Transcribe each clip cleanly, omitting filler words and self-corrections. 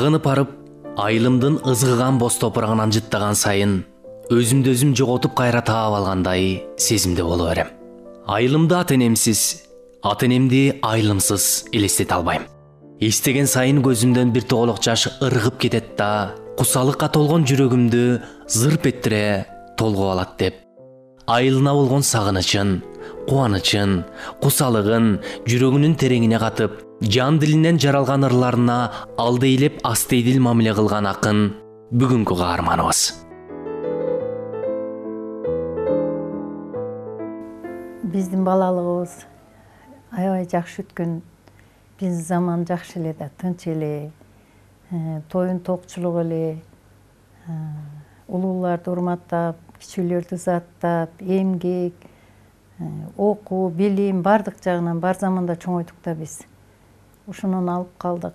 Сагынып барып, айылымдын ызгыган боз топурагынан жыттаган сайын өзүмдү өзүм жоготуп кайра таап алгандай сезимде боло берем. Айылымды ата-энемсиз, ата-энемди айылымсыз элестете албайм. Эстеген сайын көзүмдөн бир тоголок жаш ыргып кетет да, кусалыкка толгон жүрөгүмдү зырп эттире толгоп алат деп, айылына болгон сагынычын, кубанычын, кусалыгын жүрөгүнүн тереңине катып, жан дилинен жаралган ырларына алдейлеп астейдил мамиле кылган акын бүгүнкү каарманыбыз. Биздин балалыгыбыз аябай жакшы өткөн. Биз заман жакшы эле да, тынч эле, тоюн токчулук эле, улууларды урматтап, кичүүлөрдү заттап, эмгек, окуу, билим бардык жагынан бар заманда чоңойдук да биз. Ушунун алып калдык.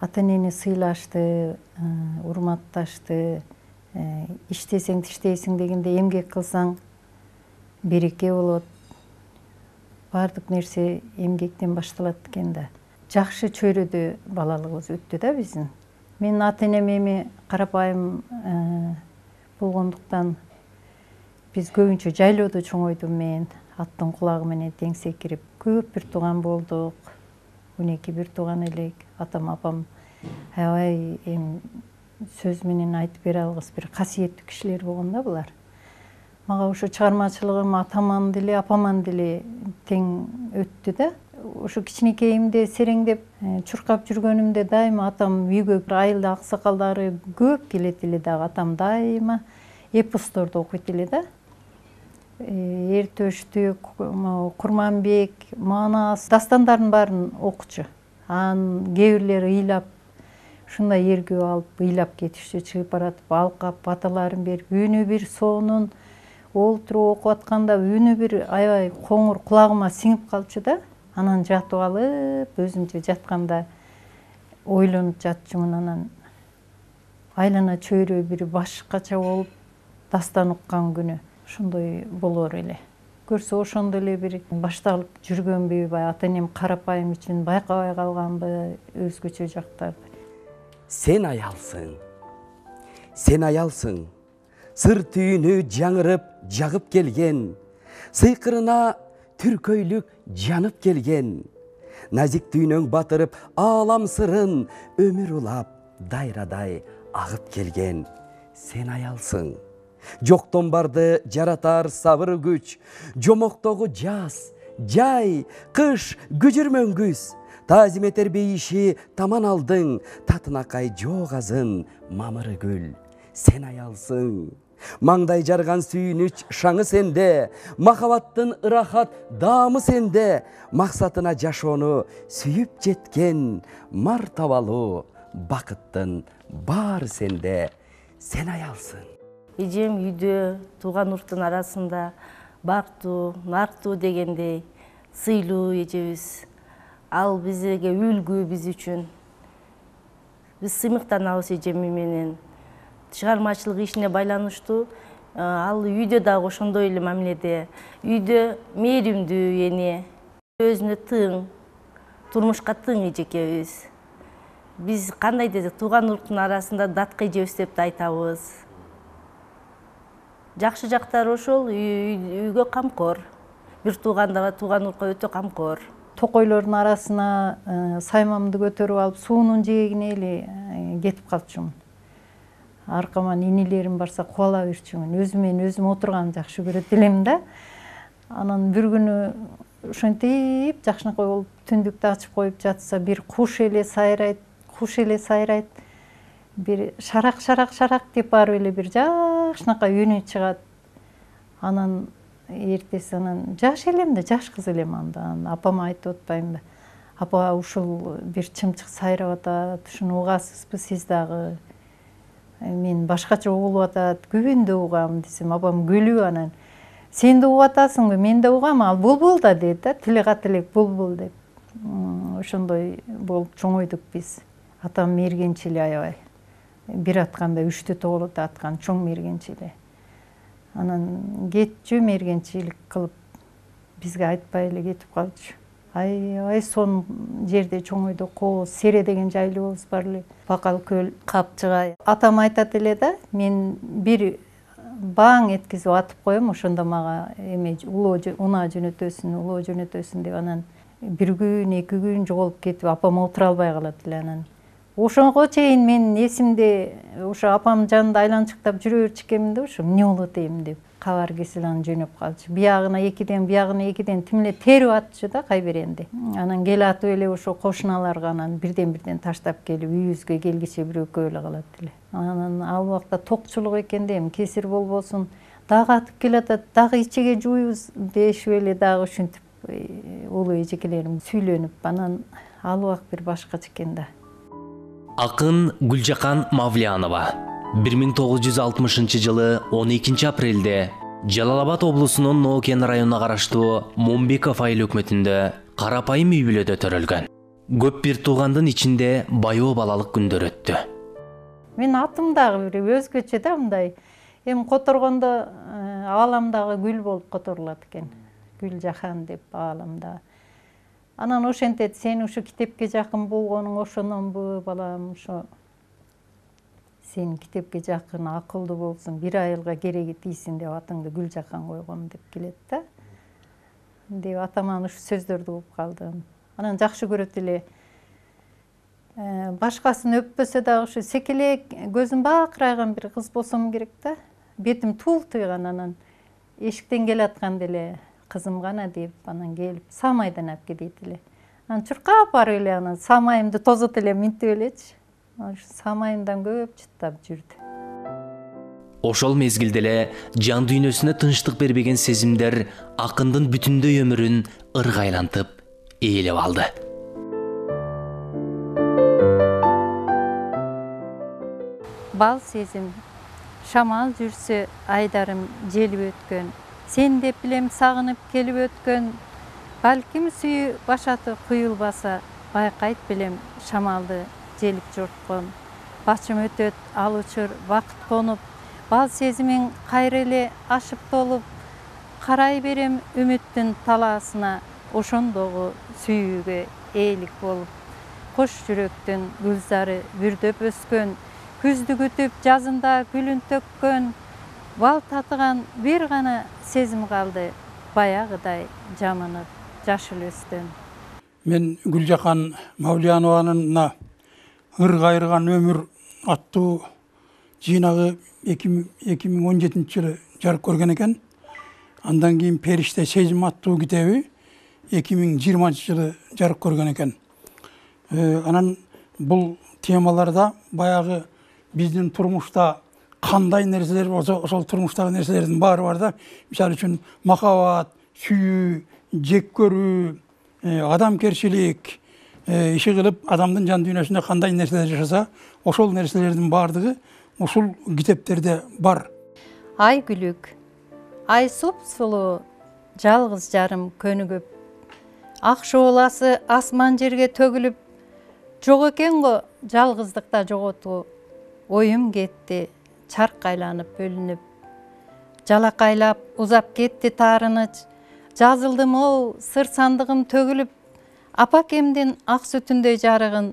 Ата-энени сыйлашты, урматташты, иштесең тиштейсиң дегенде эмгек кылсаң береке болот. Бардык нерсе эмгектен башталат экен да. Жакшы чөйрөдө балалыгыбыз өттү да биздин. Мен ата-энем эми карапайым болгондуктан биз көбүнчө жайлоодо чоңойдум мен. Аттын кулагы менен тең секирип, көп бир тууган болдук. 12 бир тууган элек. Атам, апам аябай сөз менен айтып бере алгыс бир касиеттүү кишилер болгон да булар. Мага ушу чыгармачылыгым атаман деле, апаман деле тең өттү да. Ушу кичинекейимде сереңдеп чуркап жүргөнүмдө дайыма атам үйгө айылда аксакалдары көп келет эле дагы. Атам дайыма эпосторду окуйт эле да. Эртөштүк, Курманбек, Манас дастандардын баарын окучу. Анын кээ бирлери ыйлап, ушундай эргүү алып ыйлап кетишчү, чыгып баратып алкап баталарын берип, үнү бир сонун олтуруп окуп атканда үнү бир аябай коңур кулагыма сиңип калчу да. Анан жатып алып, өзүмчө жатканда ойлонуп жатчумун. Анан айлана чөйрө бир башкача болуп дастан уккан күнү ошондой болор эле. Көрсө ошондо эле бир башталып жүргөнбү, ата-энем карапайым үчүн байкабай калганбы, өзгөчө жактарды. Сен аялсың, сен аялсың, сыр түйүнү жаңырып, жагып келген, сыйкырына түркөйлүк жанып келген, назик түйнөң батырып, аалам сырын өмүр улап, дайрадай агып келген. Сен аялсың, жоктон барды жаратар сабыр күч, жомоктогу жаз, жай, кыш, күжүрмөн күз, таазим этер бейиши таман алдың, татынакай жок азын мамыры гүл. Сен аялсың, маңдай жарган сүйүнүч шаңы сенде, махабаттын ырахат даамы сенде, максатына жашоону сүйүп жеткен мартабалуу бакыттын баары сенде. Сен аялсың. Эжем үйдө тууган урттун арасында бактуу, нарктуу дегендей сыйлуу эжебиз. Ал бизге үлгү, биз үчүн. Биз сыймыктанабыз эжеми менен. Чыгармачылык ишине байланыштуу. Ал үйдө дагы ошондой эле мамиледе. Үйдө мээримдүү эне, өзүнө тың, турмушка тың эжекебиз. Биз кандай десек, тууган урттун арасында датка эжебиз деп да айтабыз. Жакшы жактары ошол, үйгө камкор. Бир туугандага, тууган уртка өтө камкор. Токойлордун арасына саймамды көтөрүп алып, суунун жээгине эле кетип калчумун. Аркаман инилерим барса кубала берчүмүн. Өзүмөн өзүм отурганды жакшы көрөт элем да. Анан бир күнү ошентип жакшынакай болуп түндүктү ачып коюп жатса, бир куш эле сайрайт, бир шарак деп барып эле бир жакшынакай үнү чыгат. Анан эртеси жаш элем да, жаш кыз элем анда. Апама айтып атпаймынбы? Апа, ушул бир чымчык сайрап атат, ушуну угасызбы сиз дагы? Мен башкача угулуп атат, күбүндө угам десем, апам күлүп анан сен да угуп атасыңбы? Мен да угам, ал булбул да дейт да, тили кат элек булбул деп. Ошондой болуп чоңойдук биз. Атам мергенчил аябай. Бир атканда 3 тоголото аткан, чоң мергенчил. Анан кетчү мергенчилик кылып бизге айтпай эле кетип калчу. аябай сонун жерде чоңойдук. Кооз Сере деген жайлообуз бар эле. Бакал көл, Капчыга. Атам айтат эле да, мен бир баң эткизип атып коем, ошондо мага эме унаа жөнөтөсүн, улоо жөнөтөсүн деп. Анан бир күн, 2 күн жоголуп кетип, апам отура албай калат эле. Анан ошого чейин мен эсимде ошо апам жанында айланчыктап жүрө берчү экенмин да, ошо эмне болот эми деп кабар кесил анан жөнөп калчу. Биягына 2ден, биягына 2ден тим эле терип атчу да кайберенди. Анан кел атып эле ошо кошуналарга анан бирден таштап келип үйүбүзгө келгиче бир экөө эле калат эле. Анан ал убакта токчулук экенде эми кесир болбосун, дагы атып келатат, дагы ичеге жууйбуз дешип эле дагы ушинтип улуу эжекелерим сүйлөнүп, анан ал убак бир башкача экен да. Акын Гүлжакан Мавлиянова 1960-жылы 12 апрелде Жалал-Абад облусунун Ноокен районуна караштуу Момбеков айыл өкмөтүндө карапайым үй бүлөдө төрөлгөн. Көп бир туугандын ичинде баяу балалык күндөр өттү. Мен атым дагы бир өзгөчө да, мындай эми которгондо ааламдагы гүл болуп которулат экен. Гүлжахан деп ааламда. Анан ошентет, сен ушу китепке жакын болгонуң ошононбу балам, ошо сен китепке жакын, акылдуу болсуң, бир айылга кереги тийсин деп атыңды Гүлжахан койгом деп келет да. Деп атаман ушу сөздөрдү угуп калдым. Анан жакшы көрөт эле. Башкасын өппөсө дагы ушу секелек, көзүм бакырайган бир кыз болсом керек да. Бетим туултуйган, анан эшиктен келатканда эле кызым гана деп анан келип самайдан алып кетет эле. Анан чуркап барып эле анан самайымды тозот эле минтип элечи. Самайымдан көп жыттап жүрдү. Ошол мезгилде эле жан дүйнөсүнө тынчтык бербеген сезимдер акындын бүтүндөй өмүрүн ыргайлантып ээлеп алды. Бал сезим, шамал жүрсө айдарым желип өткөн, сен деп билем сагынып келип өткөн, балким сүйүү башаты куюлбаса, байкайт билем шамалды желип жорткон. Башым өтөт ал учур вакыт конуп, бал сезимиң кайра эле ашып толуп, карай берем үмүттүн талаасына, ошондогу сүйүүгө ээлик болуп. Кош жүрөктүн гүлзары бүрдөп өскөн, күздү күтүп жазында гүлүн төккөн, бал татыган бир гана сезим калды, баягыдай жамынып жашыл өстөн. Мен Гүлжакан Мавлиянованын «Ыр кайрыган өмүр» аттуу жыйнагы 2017-жылы жарык көргөн экен. Андан кийин «Периште сезим» аттуу китеби 2020-жылы жарык көргөн экен. Анан бул темаларда баягы биздин турмушта кандай нерселер болсо, ошол турмуштагы нерселердин баары бар да. Мисалы үчүн махабат, сүйүү, жек көрүү, адамкерчилик, иши кылып адамдын жан дүйнөсүндө кандай нерселер жашаса, ошол нерселердин баардыгы ушул китептерде бар. Ай күлүк, ай сулуу, жалгыз жарым көнүгүп, ак шооласы асман жерге төгүлүп, жок экен го жалгыздыкта жоготуу, оюм кетти, чарк айланып бөлүнүп, жалакайлап узап кетти таарыныч, жазылдым оу, сыр сандыгым төгүлүп, апакемдин ак сүтүндөй жарыгын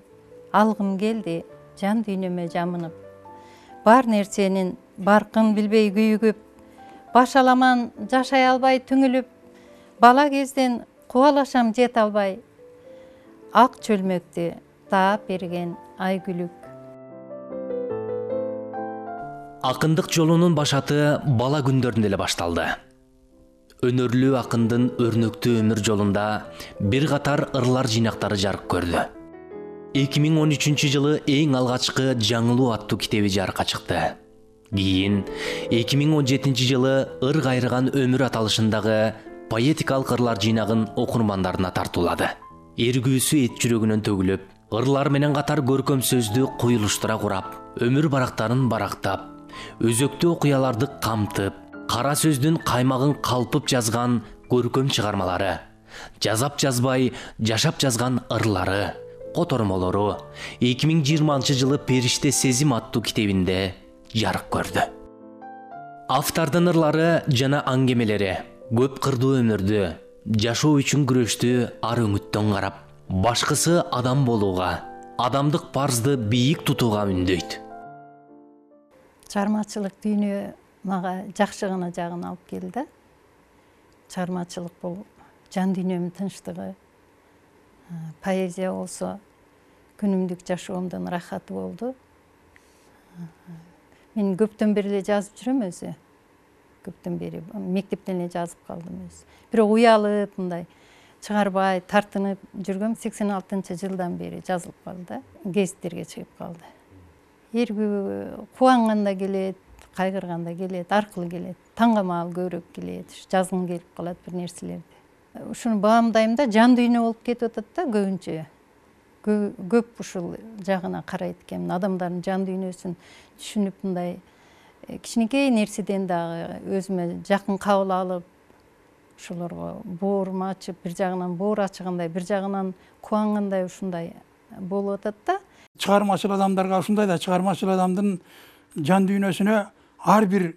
алгым келди, жан дүйнөмө жамынып. Бар нерсенин баркын билбей күйүгүп, баш аламан жашай албай түңүлүп, бала кезден кубалашам жете албай, ак чөлмөктү таап берген ай күлүк. Акындык жолунун башаты бала күндөрүндө эле башталды. Өнөрлүү акындын өрнөктүү өмүр жолунда бир катар ырлар жыйнактары жарык көрдү. 2013-жылы эң алгачкы Жаңылуу аттуу китеби жарыкка чыкты. Кийин 2017-жылы Ыр кайрыган өмүр аталышындагы поэтикалык ырлар жыйнагын окурмандарына тартуулады. Эргүүсү эт жүрөгүнөн төгүлүп, ырлар менен катар көркөм сөздү куюлуштура курап, өмүр барактарын барактап, өзөктүү окуяларды камтып, кара сөздүн каймагын калпып жазган көркөм чыгармалары, жазап жазбай жашап жазган ырлары, котормолору 2020-жылы «Периште сезим» аттуу китебинде жарык көрдү. Автордун ырлары жана аңгемелери көп кырдуу өмүрдү, жашоо үчүн күрөштү ар үмүттөн карап, башкысы адам болууга, адамдык парзды бийик тутууга үндөйт. Чыгармачылык дүйнө мага жакшы гана жагын алып келди. Чыгармачылык бул жан дүйнөмдүн тынчтыгы. Поэзия болсо күнүмдүк жашоомдун рахаты болду. Мен көптөн бери эле жазып жүрөм өзү. Көптөн бери мектептен эле жазып калдым өзү. Бирок уялып мындай чыгарбай тартынып жүргөм 86-жылдан бери жазылып калды. Гезиттерге чыгып калды. Эргүү кубанганда келет, кайгырганда келет, аркылуу келет. Таңгамал көбүрөөк келет, жазгым келип калат бир нерселерди. Ушуну баамдайм да, жан дүйнө болуп кетип атат да көбүнчө. Көп ушул жагына карайт экенмин. Адамдардын жан дүйнөсүн түшүнүп мындай кичинекей нерседен дагы өзүмө жакын кабыл алып, ошолорго боорум ачып, бир жагынан боор ачыгандай, бир жагынан кубангандай ушундай болуп атат да. Чыгармачыл адамдарга ушундай да, чыгармачыл адамдын жан дүйнөсүнө ар бир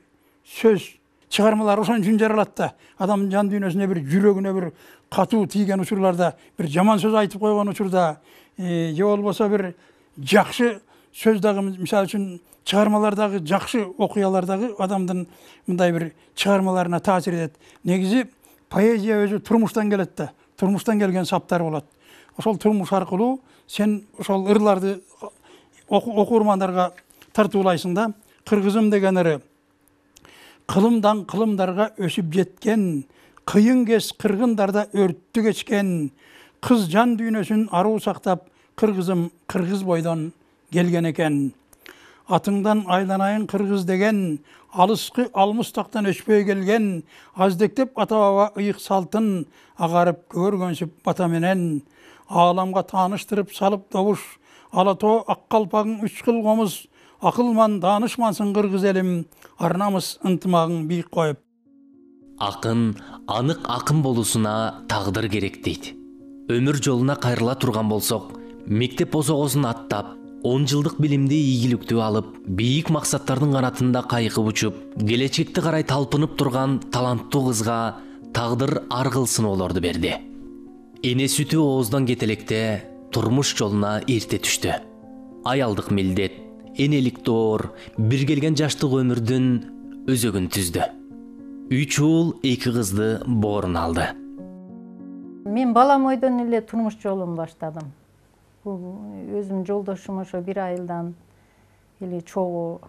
сөз, чыгармалар ошон үчүн жаралат да. Адамдын жан дүйнөсүнө бир жүрөгүнө бир катуу тийген учурларда, бир жаман сөз айтып койгон учурда, же болбосо бир жакшы сөз дагы, мисалы үчүн чыгармалардагы жакшы окуялардагы адамдын мындай бир чыгармаларына таасир этет. Негизи поэзия өзү турмуштан келет да, турмуштан келген саптар болот. Ошол турмуш аркылуу сен ошол ырларды окурмандарга тартуулайсың да. Кыргызым деген ыры кылымдан кылымдарга өсүп жеткен, кыйын кез кыргындарда өрттү кечкен, кыз жан дүйнөсүн аруу сактап, кыргызым кыргыз бойдон келген экен. Атыңдан айланайын кыргыз деген, алыскы алмустактан өчпөй келген, аздектеп ата баба ыйык салтын, агарып көргөнсүп бата менен, ааламга тааныштырып салып добуш, ала тоо ак калпагың үч кыл комуз, акылман даанышмансың кыргыз элим, арнамыз ынтымагың бийик коюп. Акын анык акын болуусуна тагдыр керек дейт. Өмүр жолуна кайрыла турган болсок, мектеп босогосун аттап, 10 жылдык билимди ийгиликтүү алып, бийик максаттардын канатында кайкып учуп, келечекти карай талпынып турган таланттуу кызга тагдыр ар кыл сыноолорду берди. Эне сүтү ооздан кетелекте турмуш жолуна эрте түштү. Аялдык милдет, энелик доор, бир келген жаштык өмүрдүн өзөгүн түздү. 3 уул 2 кызды бооруна алды. Мен бала бойдон эле турмуш жолун баштадым. Өзүм жолдошум ошо бир айылдан эле чогуу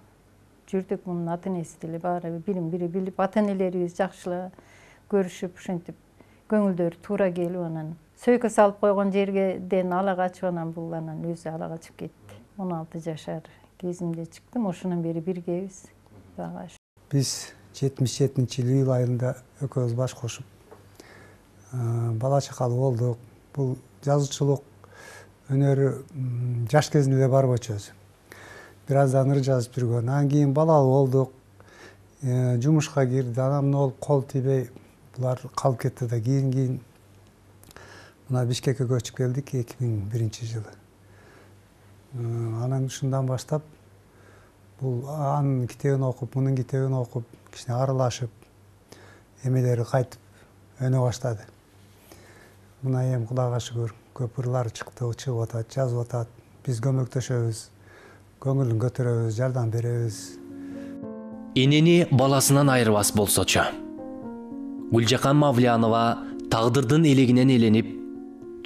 жүрдүк. Мунун ата энеси деле баары бири билип, ата энелерибиз жакшы көрүшүп, ушинтип көңүлдөрү туура келип, анан сөйкө салып койгон жергеден ала качып, анан бул анан өзү ала качып кетти. 16 жашар кезимде чыктым, ошондон бери биргебиз. Биз 77-жылы июль айында экөөбүз баш кошуп бала чакалуу болдук. Бул жазуучулук өнөрү жаш кезинде бар болчу өзү. Бир аздан ыр жазып жүргөн. Анан кийин балалуу болдук. Жумушка кирди. Анам болуп кол тийбей булар калып кетти да. Кийин мына Бишкекке көчүп келдик 2001-жылы. Анан ушундан баштап бул анын китебин окуп, мунун китебин окуп, кичине аралашып, эмелери кайтып өнө баштады. Мына эми Кудайга шүгүр, көп ырлар чыгып атат, жазып атат. Биз көмөктөшөбүз, көңүлүн көтөрөбүз, жардам беребиз. Энени баласынан айырбас болсочу. Гүлжакан Мавлянова тагдырдын элегинен эленип,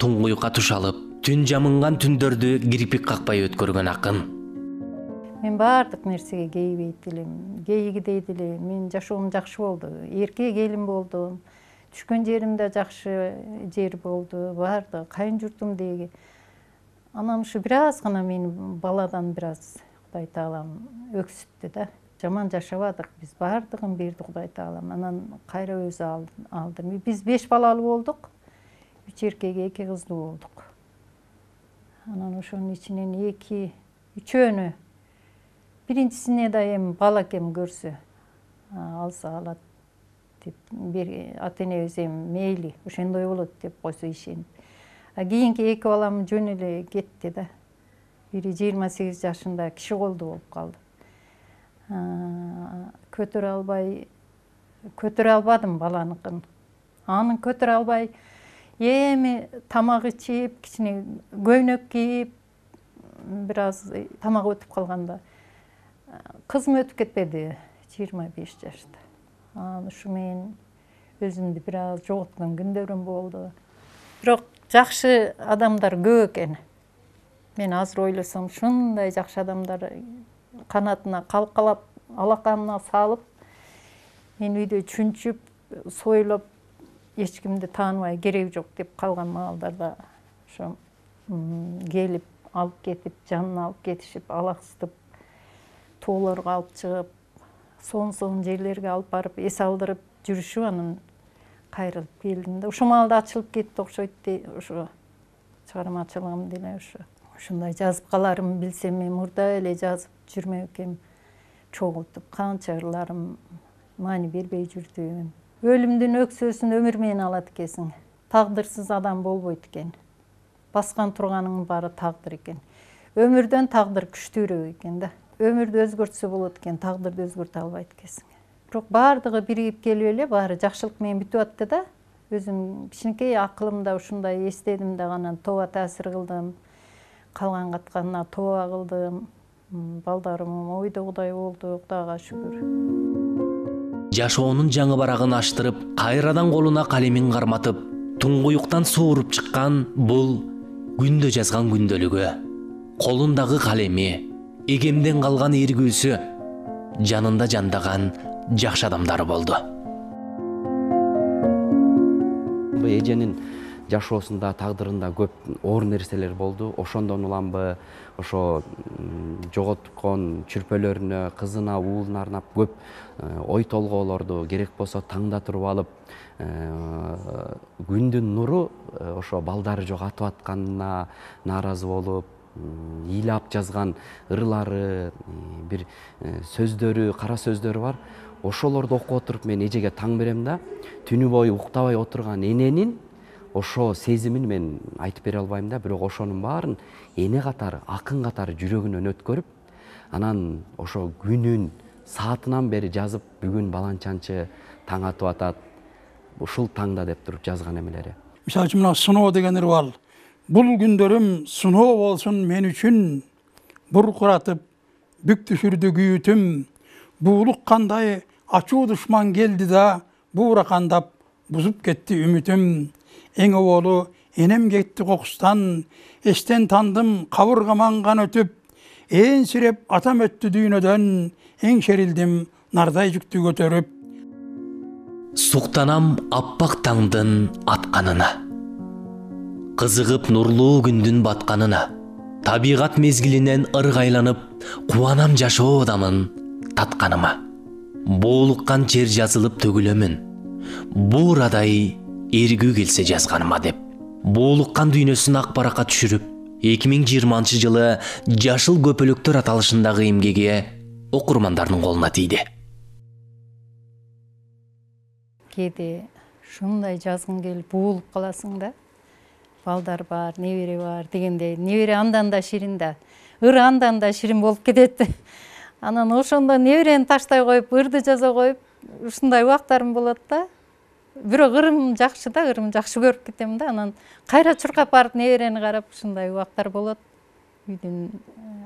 туңгуюкка туш алып, түн жамынган түндөрдү кирпик какпай өткөргөн акын. Мен баардык нерсеге кейбейт элем. Кейгидейт эле. Мен жашоом жакшы болду. Эрке келин болдум. Түшкөн жерим да жакшы жер болду. Баардыгы кайын журтум деги. Анан ушу бир аз гана мени баладан бир аз Кудай Таалам өксүттү да. Жаман жашабадык. Биз баардыгын берди Кудай Таалам. Анан кайра өзү алды. Биз 5 балалуу болдук. 3 эркек, 2 кыздуу болдук. Анан ошонун ичинен 3-өөнү биринчисине да эми бала экен көрсө алса алат деп ата энебиз эми мейли ошондой болот деп койсо ишенип. Кийинки 2 балам жөн эле кетти да. Бири 28 жашында киши колдуу болуп калды. Көтөрө албадым баланыкын. Аны көтөрө албай эми тамак ичип, кичине көйнөк кийип, бир аз тамак өтүп калганда кызым өтүп кетпеди 25 жашта. Ушу менен өзүмдү бир аз жоготкон күндөрүм болду. Бирок жакшы адамдар көп экен. Мен азыр ойлосом, ушундай жакшы адамдар канатына калкалап, алаканына салып, мен үйдө чүнчүп, сойлоп, эч кимди тааныбай, кереги жок деп калган маалдарда ошо келип, алып кетип, жанына алып кетишип, алаксытып, тоолорго алып чыгып, сонун жерлерге алып барып, эс алдырып жүрүшүп, анан кайрылып келдим да. Ошол маалда ачылып кетти окшойт дейт, ошо чыгармачылыгым деле ошо. Ушундай жазып каларымды билсем, мен мурда эле жазып жүрмөк экем, чогултуп, канча ырларым маани бербей жүрдүм. Өлүмдүн өксөсүн өмүр менен алат экенсиң. Тагдырсыз адам болбойт экен. Баскан турганыңдын баары тагдыр экен. Өмүрдөн тагдыр күчтүүрөөк экен да. Өмүрдү өзгөртсө болот экен, тагдырды өзгөртө албайт экенсиң. Бирок баардыгы биригип келип эле, баары жакшылык менен бүтүп атты да. Өзүм кичинекей акылымда ушундай эстедим да, анан тооба таасир кылдым. Калган катканына тооба кылдым. Балдарым ойдогудай болду, Кудайга шүгүр. Жашоонун жаңы барагын аштырып, кайрадан колуна калемин карматып, туңгуюктан сууруп чыккан бул күндө жазган күндөлүгү. Колундагы калеми, эгемден калган эргүүсү, жанында жандаган жакшы адамдары болду. Эженин жашоосунда, тагдырында көп оор нерселер болду. Ошондон уламбы ошо жоготкон чүрпөлөрүнө, кызына, уулуна арнап көп ой толгоолорду керек болсо таңда туруп алып, күндүн нуру ошо балдары жок атып атканына нааразы болуп, ыйлап жазган ырлары, бир сөздөрү, кара сөздөрү бар. Ошолорду окуп отуруп мен эжеге таң берем да, түнү бою уктабай отурган эненин ошо сезимин мен айтып бере албайм да, бирок ошонун баарын эне катары, акын катары жүрөгүнөн өткөрүп, анан ошо күнүн саатынан бери жазып, бүгүн баланчанчы таң атып атат, ушул таңда деп туруп жазган эмелери. Мисалы үчүн мына сыноо деген ыр бар. Бул күндөрүм сыноо болсун мен үчүн, буркуратып, бүк түшүрдү күйүтүм. Буулук кандай ачуу душман келди да, бууракандап бузуп кетти үмүтүм. Эң оболу энем кетти кокустан, эстен тандым кабырга маңган өтүп, ээңсиреп атам өттү дүйнөдөн, эңшерилдим нардай жүктү көтөрүп. Суктанам аппак таңдын атканына, кызыгып нурлуу күндүн батканына, табигат мезгилинен ыргайланып, кубанам жашоодамын татканыма. Боолуккан чер жазылып төгүлөмүн, буурадай эргүү келсе жазганыма деп. Боолуккан дүйнөсүн ак баракка түшүрүп, 2020 жылы Жашыл көпөлөктөр аталышындагы эмгеги окурмандардын колуна тийди. Кээде ушундай жазгың келип буулуп каласың да. Балдар бар, небере бар дегенде, небере андан да ширин да, ыр андан да ширин болуп кетет. Анан ошондо неберени таштай коюп, ырды жаза коюп, ушундай убактарым болот да. Бирок ырым жакшы да, ырым жакшы көрүп кетем да. Анан кайра чуркап барып неберени карап, ушундай убактар болот. Үйдүн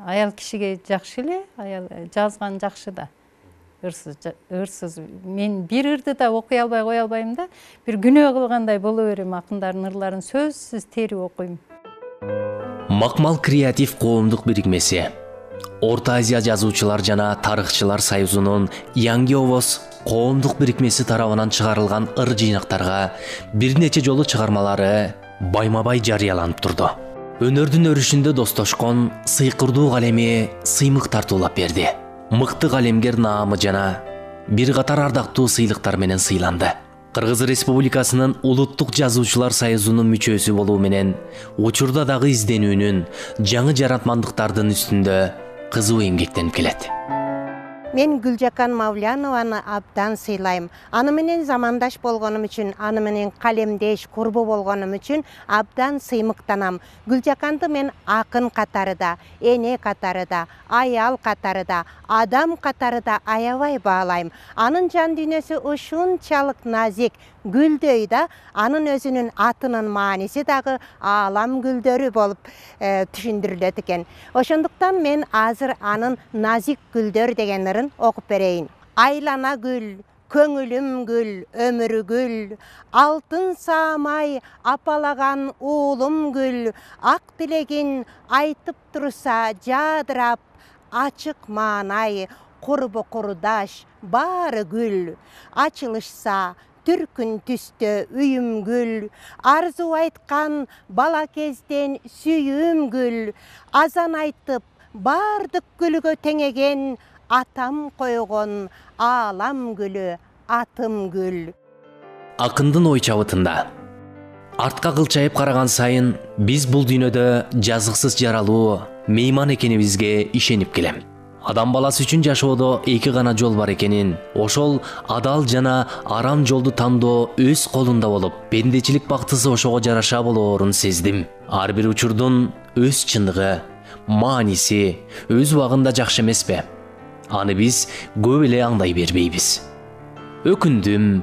аял кишиге жакшы эле, аял жазган жакшы да. Ырсыз. Мен бир ырды да окуй албай кое албайм да. Бир күнөө кылгандай боло берем, акындардын ырларын сөзсүз терип окуйм. Макмал креатив коомдук бирикмеси, Орто Азия жазуучулар жана тарыхчылар союзунун Yangi Ovoz коомдук бирикмеси тарабынан чыгарылган ыр жыйнактарга бир нече жолу чыгармалары байма-бай жарыяланып турду. Өнөрдүн өрүшүндө достошкон сыйкырдуу калеми сыймык тартуулап берди. Мыкты калемгер наамы жана бир катар ардактуу сыйлыктар менен сыйланды. Кыргыз Республикасынын Улуттук жазуучулар союзунун мүчөсү болуу менен учурда дагы изденүүнүн, жаңы жаратмандыктардын үстүндө кызуу эмгектенип келет. Мен Гүлжакан Мавлянованы абдан сыйлайм. Аны менен замандаш болгонум үчүн, аны менен калемдеш, курбу болгонум үчүн абдан сыймыктанам. Гүлжаканды мен акын катарыда, эне катарыда, аял катарыда, адам катарыда аябай баалайм. Анын жан дүйнөсү ушунчалык назик, гүлдөй да, анын өзүнүн атынын мааниси дагы аалам гүлдөрү болуп түшүндүрүлөт экен. Ошондуктан мен азыр анын назик гүлдөр деген ырын окуп берейин. Айлана гүл, көңүлүм гүл, өмүрү гүл, алтын саамай апалаган уулум гүл, ак тилегин айтып турса жадырап, ачык маанай, курбу курдаш, баары гүл, ачылышса түркүн түстө үйүм гүл, арзу айткан бала кезден сүйүүм гүл, азан айтып баардык гүлгө теңеген атам койгон аалам гүлү, атым гүл. Акындын ой чабытында артка кылчайып караган сайын биз бул дүйнөдө жазыксыз жаралуу мейман экенибизге ишенип келем. Адам баласы үчүн жашоодо эки гана жол бар экенин, ошол адал жана арам жолду тандоо өз колунда болуп, пендечилик бактысы ошого жараша болоорун сездим. Ар бир учурдун өз чындыгы, мааниси өз убагында жакшы эмеспи? Аны биз көп эле аңдай бербейбиз. Өкүндүм,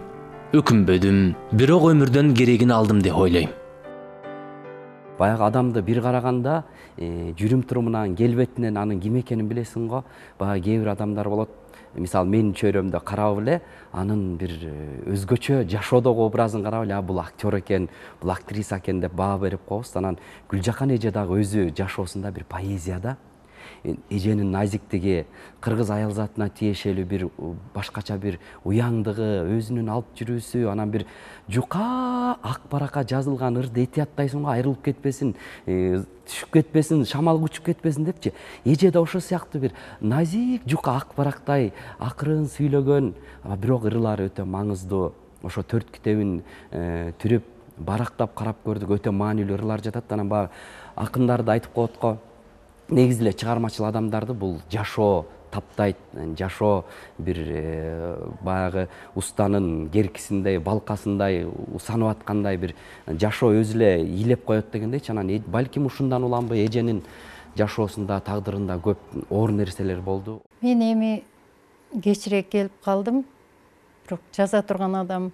өкүнбөдүм, бирок өмүрдөн керегин алдым деп ойлойм. Баягы адамды бир караганда жүрүм турумунан, келбетинен анын ким экенин билесиң го. Баягы кээ бир адамдар болот. Мисалы менин чөйрөмдө карап эле анын бир өзгөчө жашоодогу образын карап эле бул актер экен, бул актриса экен деп баа берип коебуз. Анан Гүлжакан эже дагы өзү жашоосунда бир поэзияда эженин назиктиги, кыргыз аял затына тиешелүү бир башкача бир уяңдыгы, өзүнүн алып жүрүүсү, анан бир жука ак баракка жазылган ырды этияттайсың го, айрылып кетпесин, түшүп кетпесин, шамал күчүп кетпесин депчи. Эже да ошол сыяктуу бир назик жука ак барактай акырын сүйлөгөн, бирок ырылары өтө маңыздуу. Ошо 4 китебин түрүп барактап карап көрдүк, өтө маанилүү ырылар жатат. Анан баягы акындарды айтып коет го. Негизи эле чыгармачыл адамдарды бул жашоо таптайт, жашоо бир баягы устанын керкисиндей, балкасындай усанып аткандай бир жашоо өзү эле ийлеп коет дегендейчи. Анан балким ушундан уламбы эженин жашоосунда, тагдырында көп оор нерселер болду. Мен эми кечирээк келип калдым, бирок жаза турган адам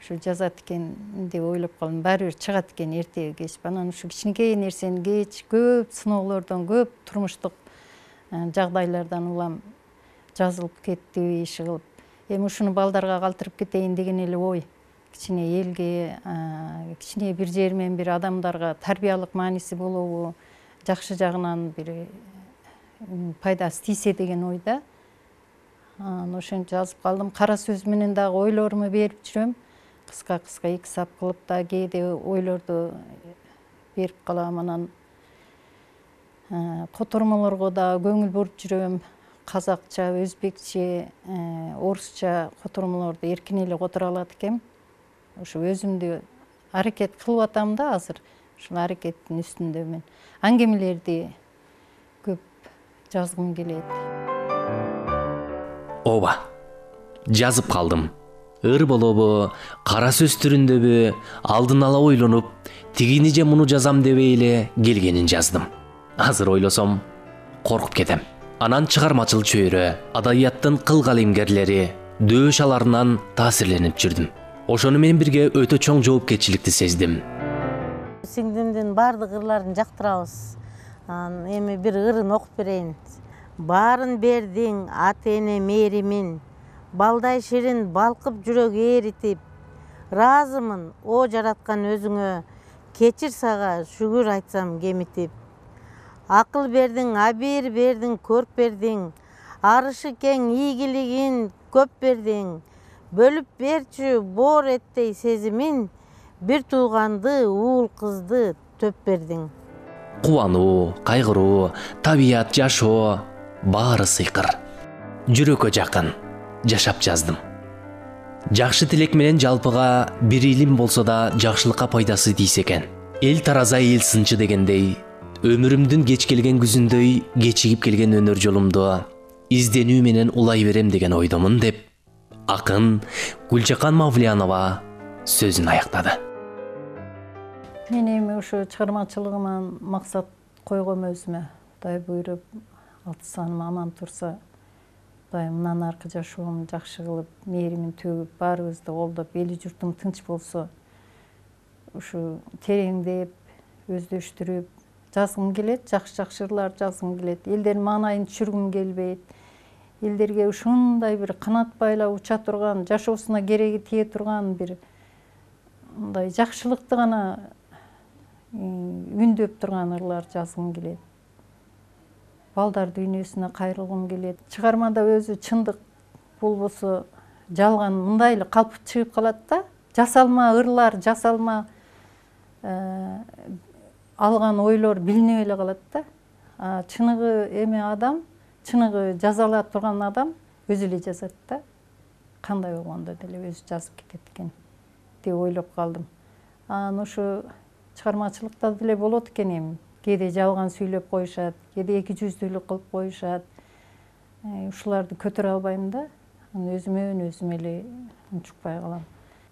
ушу жазат экен деп ойлоп калдым. Баары бир чыгат экен эртеби кеч. Анан ушу кичинекей нерсени кеч көп сыноолордон, көп турмуштук жагдайлардан улам жазылып кетти иши кылып. Эми ушуну балдарга калтырып кетейин деген эле ой. Кичине элге, кичине бир жер менен бир адамдарга тарбиялык мааниси болобу, жакшы жагынан бир пайдасы тийсе деген ойда. Ошентип жазып калдым. Кара сөз менен дагы ойлоруму берип жүрөм. Кыска-кыска 2 сап кылып да кээде ойлорду берип калам. Анан котормолорго да көңүл буруп жүрөм. Казакча, өзбекче, орусча котормолорду эркин эле которо алат экем. Ошо өзүмдү аракет кылып атам да азыр. Ушул аракеттин үстүндөмүн. Аңгемелерди көп жазгым келет. Ооба, жазып калдым. Ыр болобу, кара сөз түрүндөбү, алдын ала ойлонуп, тигини же муну жазам дебей эле келгенин жаздым. Азыр ойлосом, коркуп кетем. Анан чыгармачыл чөйрө, адабияттын кыл калемгерлери, дөөш аларынан таасирленип жүрдүм. Ошону менен бирге өтө чоң жоопкерчиликти сездим. Сиңдимдин баардык ырларын жактырабыз. Эми бир ырын окуп берейин. Баарын бердиң ата-эне мээримин, балдай ширин балкып жүрөк эритип, ыраазымын о жараткан өзүңө, кечир сага шүгүр айтсам кемитип. Акыл бердиң, абийир бердиң, көрк бердиң, арышы кең ийгилигин көп бердиң, бөлүп берчү боор эттей сезимин, бир тууганды, уул кызды төп бердиң. Кубануу, кайгыруу, табият, жашоо баары сыйкыр. Жүрөккө жакын жашап жаздым. Жакшы тилек менен жалпыга бир илим болсо да жакшылыкка пайдасы тийсе экен. Эл тараза эл сынчы дегендей, өмүрүмдүн кеч келген күзүндөй кечигип келген өнөр жолумду изденүү менен улай берем деген ойдомун деп, акын Гүлжакан Мавлиянова сөзүн аяктады. Мен эми ушу чыгармачылыгыман максат койгом өзүмө. Кудай буйруп, алты саным аман турса, Кудай мындан аркы жашоомду жакшы кылып, мээримин төгүп, баарыбызды колдоп, эли журтум тынч болсо, ушу тереңдеп, өздөштүрүп жазгым келет, жакшы ырлар жазгым келет. Элдердин маанайын түшүргүм келбейт. Элдерге ушундай бир канат байлап уча турган, жашоосуна кереги тие турган бир мындай жакшылыкты гана үндөп турган ырлар жазгым келет. Балдар дүйнөсүнө кайрылгым келет. Чыгармада өзү чындык болбосо, жалган мындай эле калп чыгып калат да. Жасалма ырлар, жасалма алган ойлор билинип эле калат да. Чыныгы эме адам, чыныгы жаза ала турган адам өзү эле жазат да. Кандай болгондо деле өзү жазып кетет экен деп ойлоп калдым. Ушу чыгармачылыкта деле болот экен эми. Кээде жалган сүйлөп коюшат, кээде эки жүздүүлүк кылып коюшат. Ушуларды көтөрө албайм да. Өзүмө эле унчукпай калам.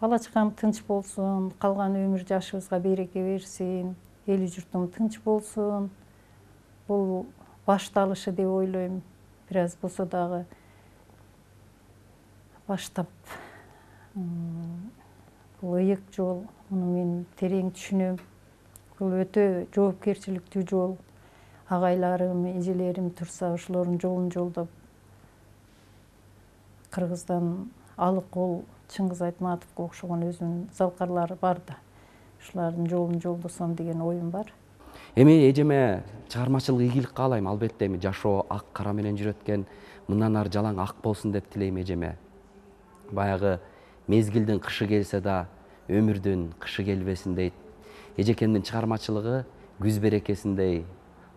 Бала чакам тынч болсун, калган өмүр жашыбызга береке берсин, эли журтум тынч болсун. Бул башталышы деп ойлойм. Бир аз болсо дагы баштап. Бул ыйык жол, муну мен терең түшүнөм. Бул өтө жоопкерчиликтүү жол. Агайларым, эжелерим турса, ошолордун жолун жолдоп, Кыргыздан Алыкол, Чыңгыз Айтматовго окшогон өзүнүн залкарлары бар да. Ушулардын жолун жолдосом деген оюм бар. Эми эжеме чыгармачылык ийгилик каалайм. Албетте эми жашоо ак кара менен жүрөт экен. Мындан ары жалаң ак болсун деп тилейм эжеме. Баягы мезгилдин кышы келсе да, өмүрдүн кышы келбесин дейт. Эжекемдин чыгармачылыгы күз берекесиндей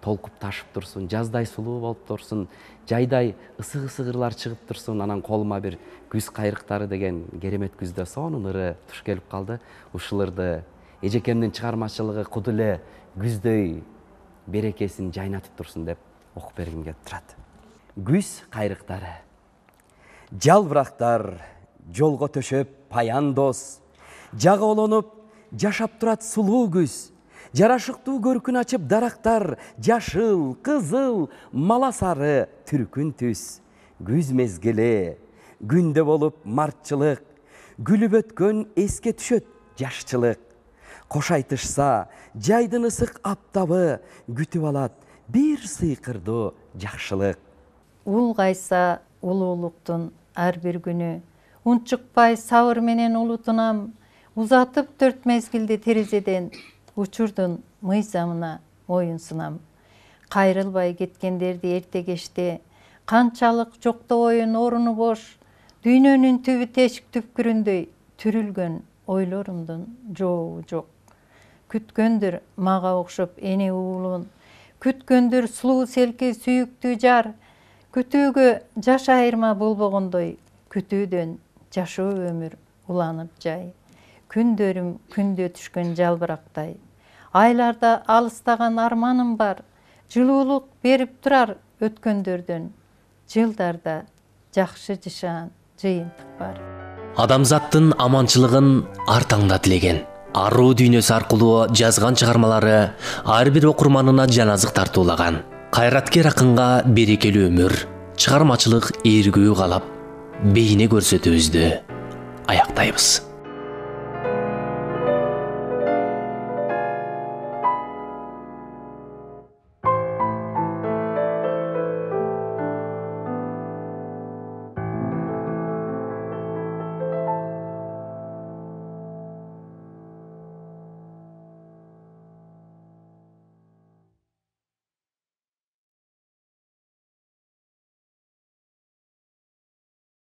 толкуп ташып турсун, жаздай сулуу болуп турсун, жайдай ысык ырлар чыгып турсун. Анан колума бир күз кайрыктары деген керемет күздө сонун ыры туш келип калды. Ушул ырды эжекемдин чыгармачылыгы куду эле күздөй берекесин жайнатып турсун деп окуп бергим келип турат. Күз кайрыктары. Жалбырактар жолго төшөп паян дос, жагоолонуп жашап турат сулуу күз. Жарашыктуу көркүн ачып дарактар, жашыл, кызыл, мала сары түркүн түс. Күз мезгили, күндө болуп мартчылык, күлүп өткөн эске түшөт жашчылык. Кош айтышса, жайдын ысык аптабы күтүп алат бир сыйкырдуу жакшылык. Улгайса улуулуктун ар бир күнү, унчукпай сабыр менен улутунам, узатып төрт мезгилди терезеден, учурдун мыйзамына моюн сунам. Кайрылбай кеткендерди эрте кечте, канчалык жоктобойун оруну бош, дүйнөнүн түбү тешик түпкүрүндөй түрүлгөн ойлорумдун жообу жок. Күткөндүр мага окшоп эне уулун, күткөндүр сулуу селки сүйүктүү жар, күтүүгө жаш айырма болбогондой, күтүүдөн жашоо өмүр уланып жай. Күндөрүм күндө түшкөн жалбырактай, айларда алыстаган арманым бар, жылуулук берип турар өткөндөрдөн, жылдарда жакшы жашаан жыйынтык бар. Адамзаттын аманчылыгын ар таңда тилеген. Аруу дүйнөсү аркылуу жазган чыгармалары ар бир окурманына жаназык тартуулаган. Кайраткер акынга берекелүү өмүр, чыгармачылык ийгүү каалап, бейне көрсөтүүбүздү аяктайбыз.